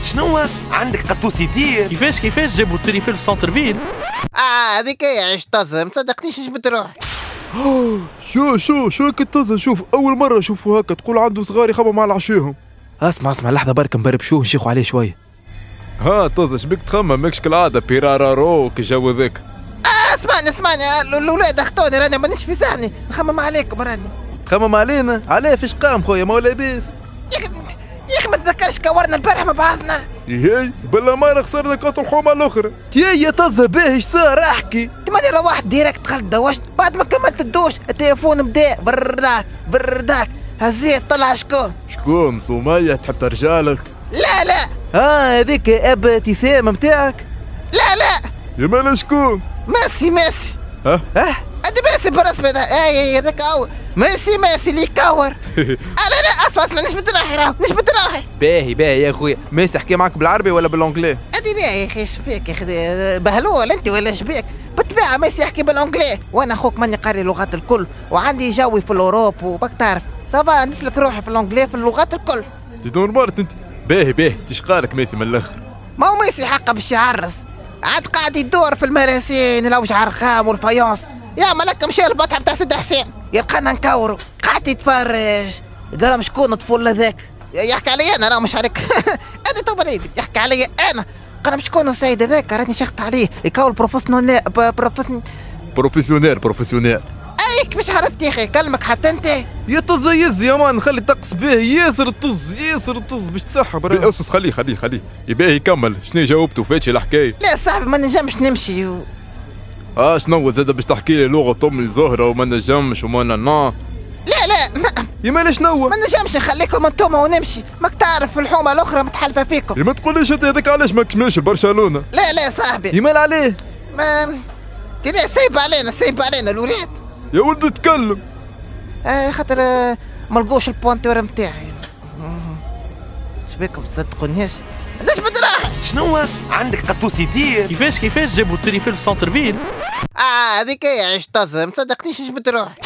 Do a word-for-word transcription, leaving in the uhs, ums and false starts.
شنو عندك قطوس يطير؟ كيفاش كيفاش جابوا ال tour Eiffel في centre-ville؟ اه هذيك هي عيش طزه، ما تصدقنيش جبت روحي. شو شو شو هيك الطزه؟ شوف اول مرة اشوفه هكا، تقول عنده صغار يخمم على عشاهم. اسمع اسمع لحظة برك نبربشوه نشيخوا عليه شوية. ها طزه شبيك تخمم ماكش كالعادة بيرارارو كي ذاك. آه اسمعني اسمعني الاولاد اخطوني، راني مانيش في سهني، نخمم عليكم راني. تخمم علينا؟ علاه فاش قام خويا ما هو لاباس؟ يا اخي ما تذكرش كورنا البارح مع بعضنا؟ ياي بلا ما خسرنا كرة الحومه الاخرى. يا يا طزه باهي اش صار احكي. ماني روحت direct دخلت دوشت، بعد ما كملت الدوش التليفون بدا برداك برداك، هزيت طلع شكون؟ شكون سمية تحب ترجع لك؟ لا لا. اه هذيك اب ابتسام نتاعك؟ لا لا. يا مالا شكون؟ ميسي ميسي. ها؟ اه؟ هذا ميسي بالرسمي اي هذاك هو ميسي ميسي اللي يكور. لا لا اسمع اسمع نجبد روحي راهو نجبد روحي. باهي باهي يا خويا، ميسي حكي معاك بالعربي ولا بال anglais؟ هذه لا يا اخي اش فيك يا اخي بهلول انت ولا اش بيك؟ بالطبيعة ميسي يحكي بال anglais، وانا اخوك ماني قاري اللغات الكل وعندي جوي في l'Europe وباك تعرف ça va نسلك روحي في l'anglais في اللغات الكل. normal انت. باهي باهي تشقالك ميسي من الاخر؟ ما هو ميسي حقه باش يعرس، عاد قاعد يدور في المراسين الاوجع الرخام وال faïence، يا ملك مشى البطحه بتاع سيدي حسين يلقانا نكورو، قعد يتفرج قال شكون الطفل هذاك؟ يحكي علي انا راه مش عليك. انا تو يحكي علي انا، قال شكون السيد هذاك؟ راني شخت عليه يكور professionnel profession professionnel professionnel. اي كيفاش عرفت يا اخي؟ كلمك حتى انت يا طز يز يا man، خلي الطقس باهي ياسر الطز ياسر الطز باش تسحب راه. اسس خليه خليه خليه يباهي يكمل، شنو جاوبته فاتش الحكاية؟ لا صاحبي ما نجمش نمشي و... اه شنو زاد باش تحكي لي لغة امي زهره وما نجمش وما نا. لا لا ما يا مالا شنو؟ ما نجمش نخليكم انتوما ونمشي، ماك تعرف في الحومه الاخرى متحلفه فيكم. يا ما تقوليش انت هذاك علاش ماكش ماشي لبرشلونة؟ لا لا صاحبي. يا مال عليه؟ ما لا سيب علينا سيب علينا الولاد. يا ولد تكلم. آه خاطر آه ما لقوش ال pointeur نتاعي. شبيكم تصدقونيش؟ نجبد روحي. شنو عندك قطوس يطير؟ كيفاش كيفاش جابوا ال tour Eiffel في centre-ville؟ اه هذيك هي عيش طزه، ما تصدقنيش جبد روحي.